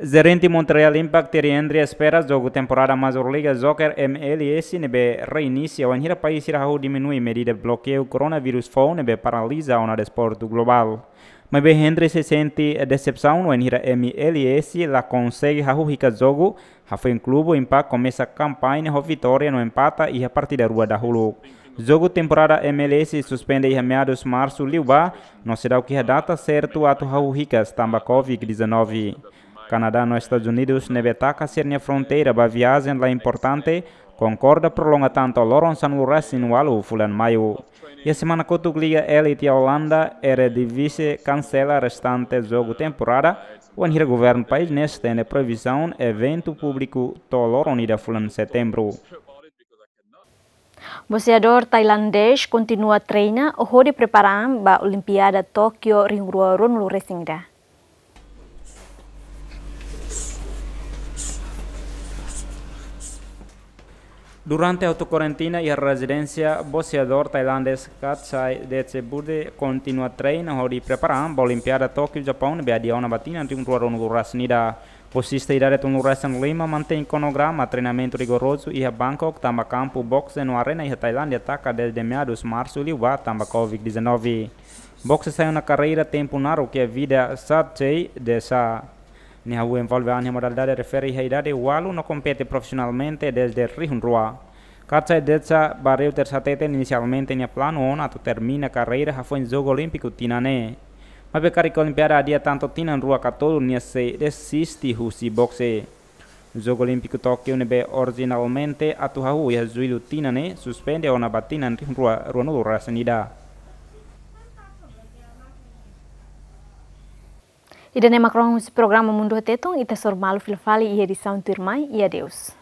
Jerente Montreal Impact Thierry Henry espera jogu temporada Major League Soccer, M L S, ne'ebé reinisia wainhira país sira hahú diminui medida blokeiu koronavírus foun ne'ebé paraliza ona desportu globál. Maibé Henry sei sente desepsaun wainhira M L S la konsege hahú hikas jogu, hafoin klube Impact komesa kampaña ho vitória no empata iha partida rua dahuluk. Jogu temporada M L S suspende iha meadus Marsu liubá, no seidauk iha data sertu atu hahú hikas tanba Covid dezanove. Kanadá no Estadus Unidus ne'ebé taka sira-nia fronteira ba viajen la importante, konkorda prolonga tan to'o loron sanulu resin ualu fulan Maiu. Iha semana kotuk, Liga Elite Holanda, Eredivisie, kansela restante jogu temporada, wainhira governu país ne'e estende proibisaun eventu públiku to'o loron ida fulan Setembru. Boxeadór tailandés kontinua treina hodi prepara an ba Olimpiada Tókiu rihun rua ruanulu resin ida. Durante auto-karantina iha rezidénsia, boxeadór tailandés Katsai Detshiburde kontinua treina hodi prepara an ba Olimpiada Tókiu Japaun ne'ebé adia ona ba tinan rihun rua ruanulu resin ida. Boxista idade tolunulu resin lima mantein kronograma treinamentu rigorozu iha Bangkok tanba kampu boxe no arena iha Tailándia taka dezde meadus Marsu liubá tanba Covid dezanove. Boxe sai ona karreira tempu naruk iha vida Satsei Desa. Nia hahú envolve an iha modalidade refere iha idade ualu no kompete profisionalmente dezde rihun rua. Katsai Desa ba Reuters hateten inisialmente nia planu ona atu termina karreira hafoin Jogu Olímpiku tinan ne'e. Maibé karik Olimpiada adia tantu tinan rua ka tolu nia sei desisti husi bokse. Jogu Olímpiku Tókiu ne'ebé orijinalmente atu hahú iha Jullu tinan ne'e suspende ona ba tinan rihun rua ruanulu resin ida. Ida-ne'e mak rohan husi programa Mundu Tetun, ita hasoru malu fila fali iha edisaun tuirmai, i adeus.